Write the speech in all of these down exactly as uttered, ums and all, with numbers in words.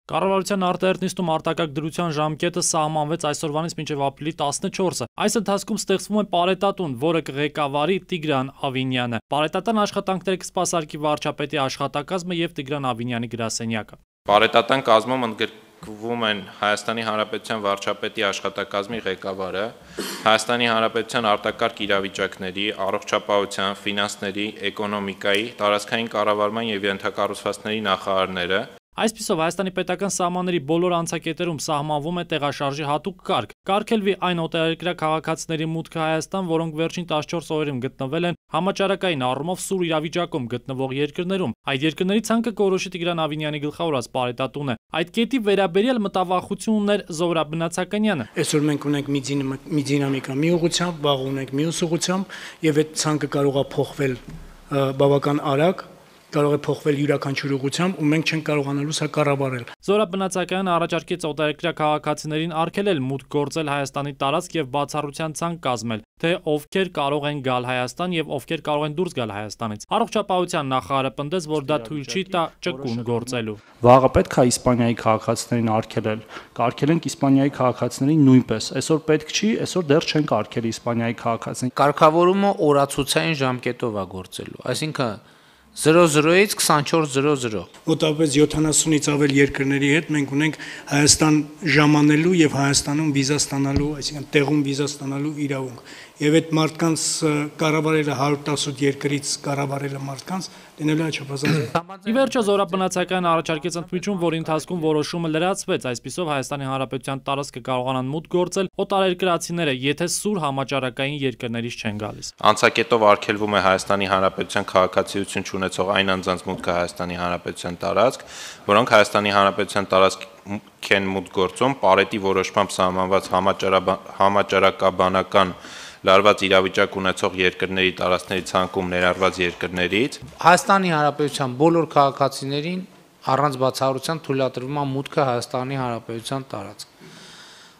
Կառավարության արտահերթ արտակարգ դրության ժամկետը սահմանվեց այսօրվանից մինչև ապրիլի տասնչորսը։ Այս ընթացքում ստեղծվում է պարետատուն, որը կղեկավարի Տիգրան Ավինյանը։ Պարետատան աշխատանքները կսպասարկի վարչապետի աշխատակազմը և Տիգրան Ավինյանի գրասենյակը։ Պարետատան կազմում ընդգրկվում են Հայաստանի Հանրապետության վարչապետի աշխատակազմի ղեկավարը, Հայաստանի Հանրապետության արտակարգ իրավիճակների, առողջապահության, ֆինանսների, էկոնոմիկայի, տարածքային կառավարման և ենթակառուցվածքների նախարարները։ Այսպիսով Հայաստանի պետական սահմանների բոլոր անցակետերում սահմանվում է տեղաշարժի հատուկ կարգ։ Կարգելվի այն օտարերկրյա քաղաքացիների մուտքը Հայաստան, որոնք վերջին տասնչորս օրերում գտնվել են համաճարակային առումով սուր իրավիճակում գտնվող երկրներում։ Այդ երկրների ցանկը կորոշի Տիգրան Ավինյանի գլխավորած պարետատունը։ Այդ կետի վերաբերյալ մտավախություն ուներ Զոհրաբ Բնացականյանը։ Այսօր մենք ունենք մի մի դինամիկա մի ուղղությամբ, վաղ ունենք մյուս ուղղությամբ, եւ այդ ցանկը կարող է փոխվել բավական արագ, կարող է փոխվել յուրաքանչյուր ուղղությամբ ու մենք չենք կարողանալու սա կառավարել։ Զոհրաբ Բնացականյանը առաջարկեց օտարերկրյա քաղաքացիներին արգելել մուտք գործել Հայաստանի տարածք եւ բացառության ցանկ կազմել, թե ովքեր կարող են գալ Հայաստան եւ ովքեր կարող են դուրս գալ Հայաստանից։ Առողջապահության նախարարը պնդեց, որ դա թույլ չի տա ճկուն գործելու։ Վաղը պետք է Իսպանիայի քաղաքացիներին արգելել, կարգելենք Իսպանիայի քաղաքացիներին նույնպես։ Այսօր պետք չի, այսօր դեռ չենք արգելի Իսպանիայի քաղաքացիներին։ Կարգավորումը օրացուցային ժամկետով է գործելու, այսինքն զրո զրոից քսանչորս զրո զրո։ Մոտավորապես յոթանասունից ավել երկրների հետ մենք ունենք Հայաստան ժամանելու եւ Հայաստանում վիզա ստանալու, այսինքն տեղում վիզա ստանալու իրավունք։ Եվ այդ մարդկանց կառավարելը հարյուր տասութ երկրից կառավարելը մարդկանց դնելու է չափազանց։ Ի վերջո Զոհրաբ Բնացականյանը առաջարկեց ընդմիջում, որի ընթացքում որոշումը լրացվեց, այսպիսով Հայաստանի Հանրապետության տարածքը կարողանան մուտք գործել օտարերկրացիները, եթե սուր համաճարակային երկրներից չեն գալիս։ Անցակետով արգելվում է Հայաստանի Հանրապետության քաղաքացիություն ունեցող այն անձանց մուտքը Հայաստանի Հանրապետության տարածք, որոնք Հայաստանի Հանրապետության տարածք են մուտք գործում պարետի որոշմամբ սահմանված համաճարակաբանական լարված իրավիճակ ունեցող երկրների տարածքների ցանկում ներառված երկրներից։ Հայաստանի Հանրապետության բոլոր քաղաքացիներին առանց բացառության թույլատրվում է մուտքը Հայաստանի Հանրապետության տարածք։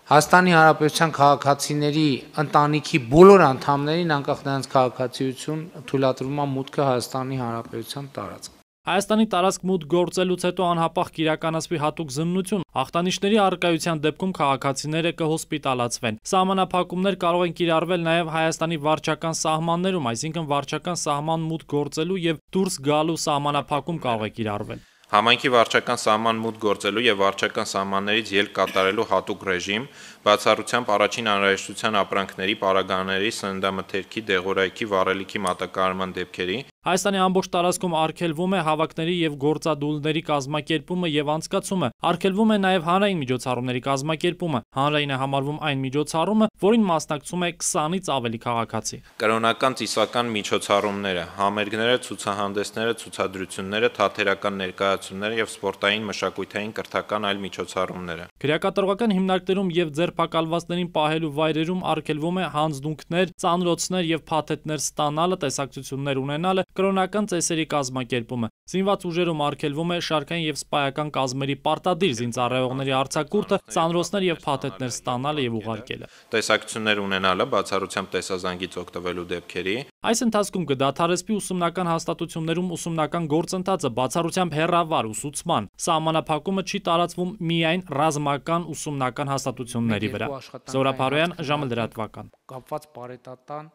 Հայաստանի Հանրապետության քաղաքացիների ընտանիքի բոլոր անդամներին անկախ նրանց քաղաքացիություն թույլատրվում է մուտքը Հայաստանի Հանրապետության տարածք։ Հայաստանի տարածք մուտք գործելուց հետո անհապաղ կիրականացվի հատուկ զննություն։ Ախտանիշների առկայության դեպքում քաղաքացիները կհոսպիտալացվեն։ Սահմանափակումներ կարող են կիրառվել նաև Հայաստանի վարչական սահմաններում, այսինքն վարչական սահման մուտք գործելու եւ դուրս գալու սահմանափակում կարող է կիրառվել։ Համայնքի վարչական սահման մուտք գործելու եւ վարչական սահմաններից ելք կատարելու հատուկ ռեժիմ, բացառությամբ առաջին անհրաժեշտության ապրանքների, պարագաների, սննդամթերքի, դեղորայքի, վառելիքի մատակարարման դեպքերի։ Հայաստանի ամբողջ տարածքում արգելվում է հավաքների եւ գործադուլների կազմակերպումը եւ անցկացումը։ Արգելվում է նաեւ հանրային միջոցառումների կազմակերպումը։ Հանրային է համարվում այն միջոցառումը, որին մասնակցում է քսանից ավելի քաղաքացի։ Կրոնական ծիսական միջոցառումները, համերգները, ցուցահանդեսները, ցուցադրությունները, թատերական ներկայացումները եւ սպորտային, մշակութային, կրթական այլ միջոցառումները։ Քրեակատարողական հիմնարկներում եւ ձերբակալվածներին պահելու վայրերում արգելվում է հանձնունքներ, ծանրոցներ եւ փաթեթներ ստանալը, տեսակցություններ ունենալը, կրոնական ծեսերի կազմակերպումը։ Զինված ուժերում արգելվում է շարքային եւ սպայական կազմերի պարտադիր զինծառայողների արձակուրդը, ծանրոցներ եւ փաթեթներ ստանալը եւ ուղարկելը։ Տեսակցություններ ունենալը, բացառությամբ տեսազանգից օգտվելու դեպքերի։ Այս ընթացքում կդադարեցվի ուսումնական հաստատություններում ուսումնական գործընթացը, բացառությամբ հեռավար ուսուցման։ Սահմանափակումը չի տարածվում միայն ռազմական ուսումնական հաստատությունների վրա։ Զոհրաբ Հարոյան, ժամը լրատվական։ Կապված պարետատան